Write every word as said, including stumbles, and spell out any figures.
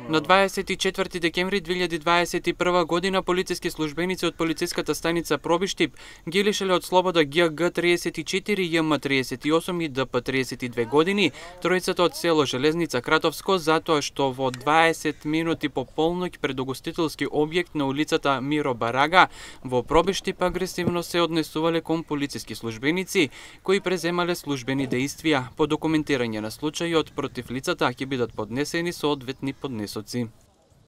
На дваесет и четврти декември две илјади дваесет и прва година полициски службеници од полициската станица Пробиштип ги лишеле од слобода Г Г триесет и четири, Ј М триесет и осум и Д П триесет и две години, тројцата од село Железница Кратовско, затоа што во дваесет минути по полноќ пред угостителски објект на улицата Миро Барага во Пробиштип агресивно се однесувале кон полициски службеници кои преземале службени дејствија. По документирање на случајот против лицата ќе бидат поднесени соодветни поднесоци.